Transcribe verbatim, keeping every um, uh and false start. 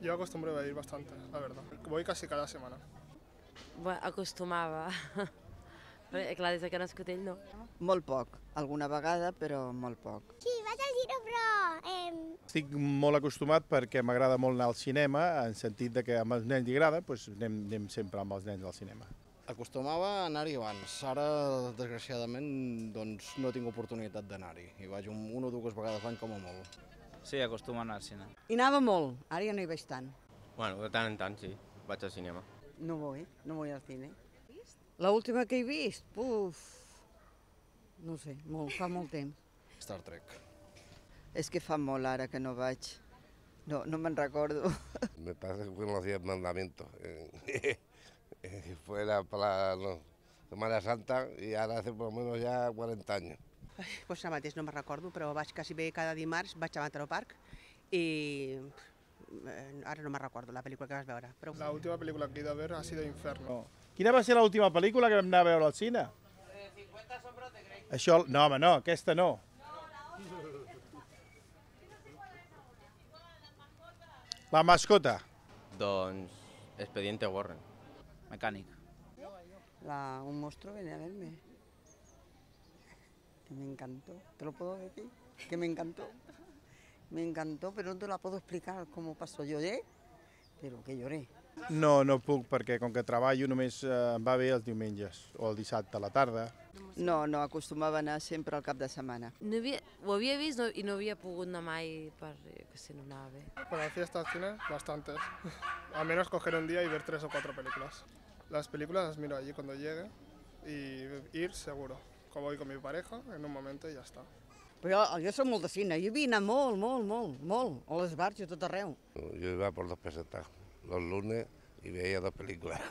Yo acostumbro a ir bastante, la verdad. Voy casi cada semana. Bueno, acostumava. Però, clar, des que no escut ell, no. Molt poc, alguna vegada, però molt poc. Sí, vaig al cine, però... Eh... Estic molt acostumat perquè m'agrada molt anar al cinema, en sentit de que amb els nens li agrada, doncs anem, anem sempre amb els nens al cinema. Acostumava a anar-hi abans, ara desgraciadament doncs, no tinc oportunitat d'anar-hi, i vaig un, una o dues vegades l'any com a molt. Sí, acostumo a anar al cine. Hi anava molt, ara ja no hi veig tant. Bueno, de tant en tant, sí, vaig al cinema. No vull, no vull al cine. L'última que he vist, puf, no sé, molt, fa molt temps. Star Trek. És que fa molt ara que no vaig, no, no me'n recordo. Me parece que fueron los diez mandamientos. Fue la, para la Semana Santa y ahora hace por lo menos ya cuarenta años. Ai, doncs ara mateix no me'n recordo, però vaig quasi bé cada dimarts, vaig a Mataró Park i eh, ara no me'n recordo la pel·lícula que vas veure. Però... La última película que he ido a ver ha sido Inferno. Quina va ser l'última pel·lícula que vam anar a veure al cine? cinquanta sombras de Grey. Això, no, home, no, aquesta no. La mascota. Doncs Expediente Warren. Mecànic. La, un monstruo viene a verme. Que me encantó, ¿te lo puedo decir? Que me encantó. Me encantó, pero no te la puedo explicar cómo pasó. Lloré, pero que lloré. No, no puc, perquè com que treballo només eh, em va bé els diumenges o el dissabte a la tarda. No, no, acostumava a anar sempre al cap de setmana. No havia, ho havia vist no, i no havia pogut anar mai per, jo que sé, no anava bé. Para la fiesta al cine, bastantes. Al menos coger un día y ver tres o cuatro películas. Las películas las miro allí cuando llegue y ir seguro. Como voy con mi pareja, en un momento y ya está. Però jo, jo soc molt de cine, jo havia anat molt, molt, molt, molt, a les bars i a tot arreu. Yo iba por dos pesetas los lunes y veía dos películas.